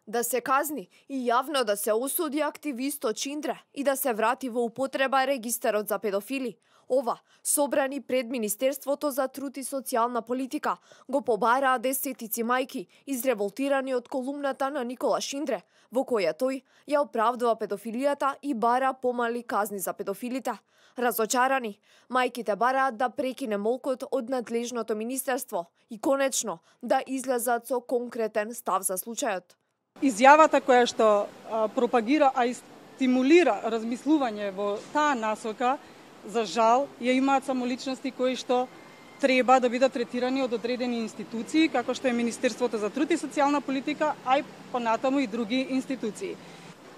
Да се казни и јавно да се осуди активистот Шиндре и да се врати во употреба регистарот за педофили. Ова, собрани пред Министерството за труд и социјална политика, го побараа десетици мајки, изреволтирани од колумната на Никола Шиндре, во која тој ја оправдува педофилијата и бара помали казни за педофилите. Разочарани, мајките бараат да прекине молкот од надлежното министерство и конечно да излезат со конкретен став за случајот. Изјавата која што пропагира, а и стимулира размислување во таа насока, за жал, ја имаат само личности кои што треба да бидат третирани од одредени институции, како што е Министерството за труд и социјална политика, а и понатаму и други институции.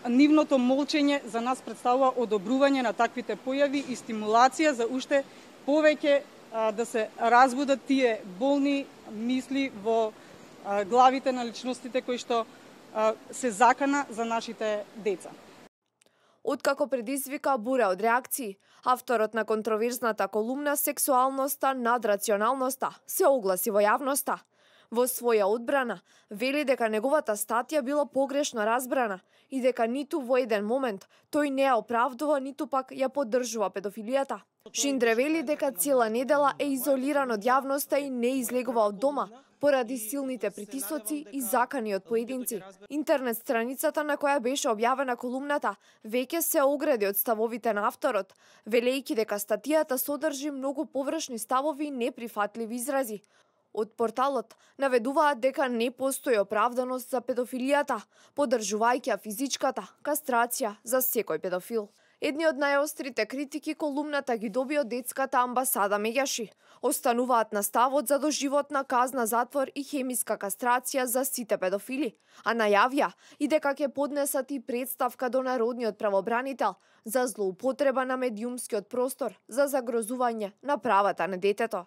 Нивното молчење за нас представува одобрување на таквите појави и стимулација за уште повеќе да се разбудат тие болни мисли во главите на личностите кои што се закана за нашите деца. Откако предизвика бура од реакции, авторот на контроверзната колумна "Сексуалноста над рационалноста" се огласи во јавноста. Во своја одбрана, вели дека неговата статија била погрешно разбрана и дека ниту во еден момент тој не ја оправдува, ниту пак ја поддржува педофилијата. Шиндре вели дека цела недела е изолиран од јавноста и не излегува од дома, поради силните притисоци и закани од поединци. Интернет страницата на која беше објавена колумната веќе се огради од ставовите на авторот, велејќи дека статијата содржи многу површни ставови и неприфатливи изрази. Од порталот наведуваат дека не постои оправданост за педофилијата, поддржувајќи физичката кастрација за секој педофил. Едни од најострите критики колумната ги доби од детската амбасада Меѓаши. Остануваат на ставот за доживотна казна затвор и хемиска кастрација за сите педофили, а најавија и дека ќе поднесат и представка до Народниот правобранител за злоупотреба на медиумскиот простор за загрозување на правата на детето.